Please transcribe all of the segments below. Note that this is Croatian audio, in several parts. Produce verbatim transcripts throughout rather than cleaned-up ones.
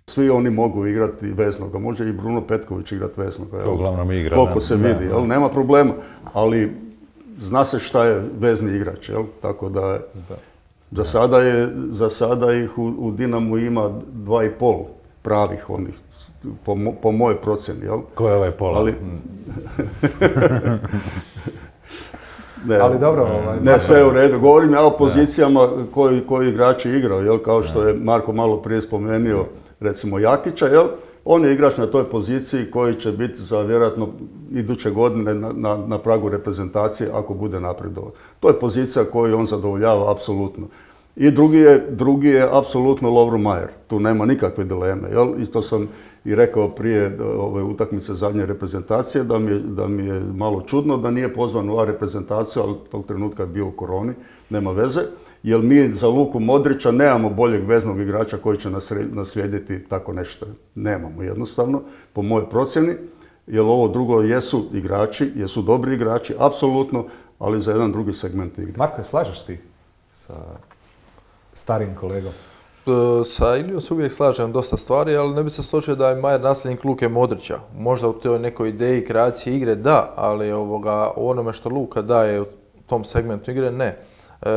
Svi oni mogu igrati veznoga, može i Bruno Petković igrati veznoga. To uglavnom igra. Koliko se vidi, jel? Nema problema, ali zna se šta je vezni igrač, jel? Tako da, za sada, je, za sada ih u, u Dinamu ima dva i pol pravih onih, po, po mojoj procjeni, jel? Ko je ovaj pola? Ali, ne, ali dobro, ovaj, ne, sve u redu. Govorim ja o pozicijama koji, koji igrači igraju, jel? Kao što je Marko malo prije spomenuo, recimo Jakića, jel? On je igrač na toj poziciji koji će biti za vjerojatno iduće godine na, na, na pragu reprezentacije ako bude napredovao. To je pozicija koju on zadovoljava apsolutno. I drugi je, drugi je apsolutno Lovro Majer. Tu nema nikakve dileme. Jel? Isto sam i rekao prije ove utakmice zadnje reprezentacije da mi, je, da mi je malo čudno da nije pozvan u A reprezentaciju, ali tog trenutka je bio u koroni, nema veze. Jer mi za Luku Modrića nemamo boljeg veznog igrača koji će naslijediti tako nešto. Nemamo jednostavno, po mojoj procjeni, jer ovo drugo jesu igrači, jesu dobri igrači, apsolutno, ali za jedan drugi segment igre. Marko, slažeš ti sa starim kolegom? Sa Ilijom se uvijek slažem dosta stvari, ali ne bi se složio da je Majer nasljednik Luke Modrića. Možda u toj nekoj ideji kreacije igre da, ali ovoga, u onome što Luka daje u tom segmentu igre ne. E,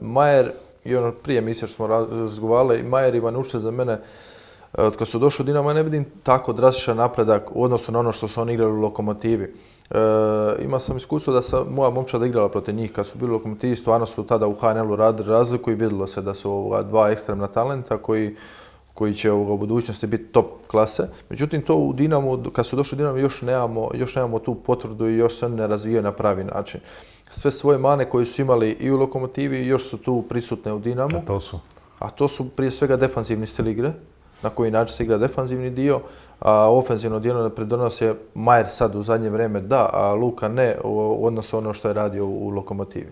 Majer, i ono prije emisije što smo razgovarali, Majer i Vanušće za mene, od kad su došli u Dinamo, ja ne vidim tako drastičan napredak u odnosu na ono što su oni igrali u Lokomotivi. E, ima sam iskustvo da sam moja momčada igrala protiv njih kad su bili u Lokomotivi, stvarno su tada u H N L-u radili razliku i vidjelo se da su ovoga, dva ekstremna talenta koji, koji će ovoga, u budućnosti biti top klase. Međutim, to u Dinamu, kad su došli u Dinamo, još nemamo, još nemamo tu potvrdu i još se ne razvijaju na pravi način. Sve svoje mane koje su imali i u Lokomotivi još su tu prisutne u Dinamu. A to su? A to su prije svega defanzivni stil igre, na koji način se igra defanzivni dio, a ofenzivno dio ne pridonosi Majer sad u zadnje vrijeme da, a Luka ne u odnosu ono što je radio u Lokomotivi.